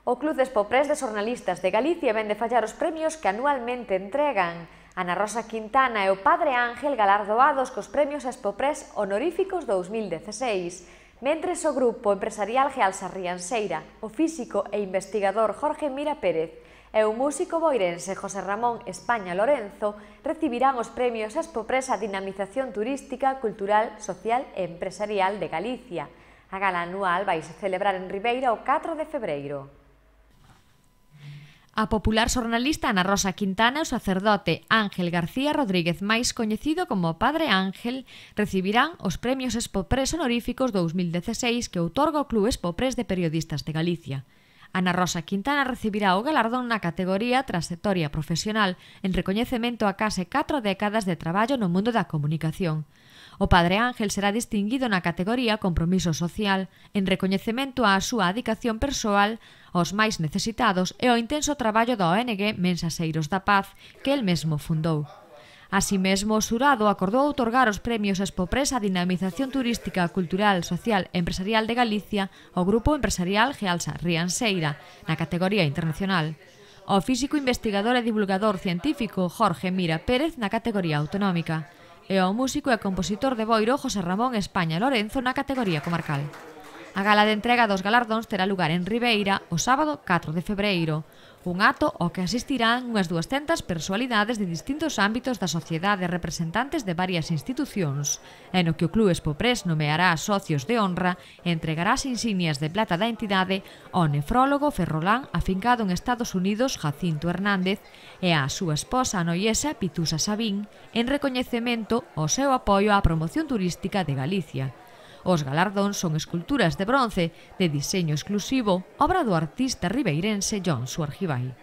O Club de Expoprés de Xornalistas de Galicia ven de fallar os premios que anualmente entregan. Ana Rosa Quintana e o Padre Ángel galardoados cos premios Expoprés honoríficos 2016, mentres o Grupo Empresarial Gealsa Rianseira, o físico e investigador Jorge Mira Pérez e o músico boirense José Ramón España Lorenzo recibirán os premios Expoprés a dinamización turística, cultural, social e empresarial de Galicia. A gala anual vaise celebrar en Ribeira o 4 de febreiro. A popular xornalista Ana Rosa Quintana e o sacerdote Ángel García Rodríguez, máis coñecido como Padre Ángel, recibirán os premios Expoprés honoríficos 2016 que outorga o Club Expoprés de Periodistas de Galicia. Ana Rosa Quintana recibirá o galardón na categoría Trayectoria Profesional en recoñecemento a case 4 décadas de traballo no mundo da comunicación. O Padre Ángel será distinguido na categoría Compromiso Social en recoñecemento á súa dedicación persoal aos máis necesitados e ao intenso traballo da ONG Mensaseiros da Paz que el mesmo fundou. Así mesmo, o xurado acordou outorgar os premios Expoprés a dinamización turística, cultural, social e empresarial de Galicia ao Grupo Empresarial Gealsa Rianseira na categoría internacional, ao físico investigador e divulgador científico Jorge Mira Pérez na categoría autonómica e ao músico e compositor de boiro José Ramón España Lorenzo na categoría comarcal. A gala de entrega dos galardóns terá lugar en Ribeira o sábado 4 de febreiro, un acto ao que asistirán unhas 200 personalidades de distintos ámbitos da sociedade e representantes de varias institucións, e no que o Club Expoprés nomeará socios de honra e entregará as insignias de plata da entidade ao nefrólogo ferrolán afincado en Estados Unidos Jacinto Hernández e á súa esposa noiesa Pitusa Sabín en recoñecemento ao seu apoio á promoción turística de Galicia. Os galardóns son esculturas de bronce de diseño exclusivo, obra do artista ribeirense Johnsu Argibay.